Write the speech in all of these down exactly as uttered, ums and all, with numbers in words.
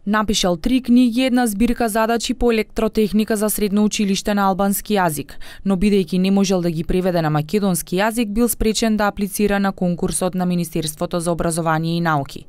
Напишал три книги, една збирка задачи по електротехника за средно училиште на албански јазик, но бидејќи не можел да ги преведе на македонски јазик, бил спречен да аплицира на конкурсот на Министерството за образование и науки.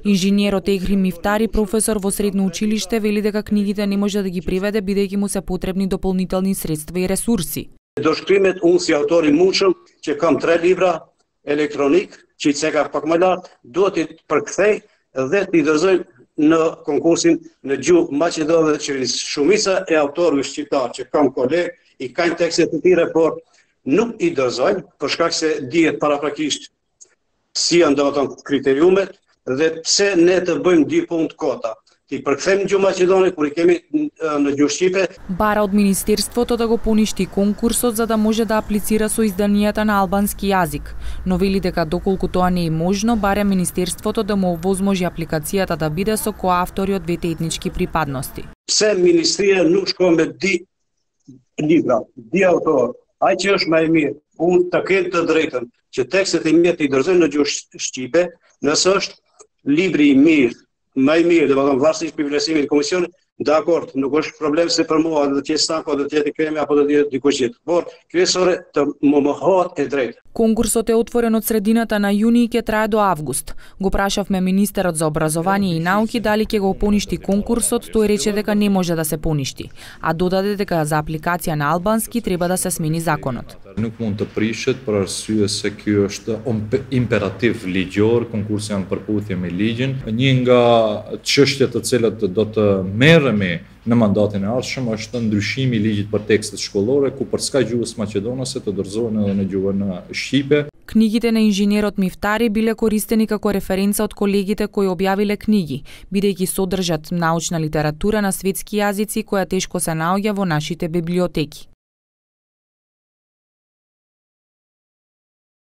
Инженерот Егри Мифтари, професор во средно училиште, вели дека книгите не може да ги преведе бидејќи му се потребни дополнителни средства и ресурси. Do shkrimet unë si autor i mundshëm që kam tre libra elektronik, që i ceka pak më lart, duhet i përkthej dhe t'i dorëzoj në konkursin në gjuhë maqedone dhe qeverisë. Shumica e autorëve shqiptar që kam kolegë i kanë tekste të tjera, por nuk i dorëzojnë për shkak se dihet paraprakisht si janë domethënë kriteriumet dhe pse ne të bëjmë dy punë kota. Ti përkthejmë gjuhë maqedone kur i kemi në gjuhë shqipe. Бара од Министерството да го поништи конкурсот за да може да аплицира со изданијата на албански јазик, но вели дека доколку тоа не е можно, барем Министерството да му овозможи апликацијата да биде со коавтори од двете етнички припадности. Pse ministria nuk shkon me di libra, di autor, ai që është më i mirë, unë të kem të drejtën që tekstet e mia të i dorëzoj në gjuhë shqipe, nëse është libri i mirë, më i mirë, domethënë varësisht për vlerësimin e komisionit, dakord, nuk është problem se për mua do të jetë stanko, do të jetë kremi apo do të jetë dikush tjetër. Por kryesore të më mohohet e drejtë. Конкурсот е отворен од средината на јуни и ќе трае до август. Го прашавме министерот за образование и науки дали ќе го поништи конкурсот, тој рече дека не може да се поништи, а додаде дека за апликација на албански треба да се смени законот. Nuk mund të prishet për arsye se ky është imperativ ligjor, konkursi janë përputhje me ligjin. Një nga çështjet të cilat do të merremi në mandatin e ardhshëm është ndryshimi i ligjit për tekstet shkollore, ku për ska gjuhës maqedonase të dorëzohen edhe në gjuhën shqipe. Книгите на инженерот Мифтари биле користени како референца од колегите кои објавиле книги, бидејќи содржат научна литература на светски јазици која тешко се наоѓа во нашите библиотеки.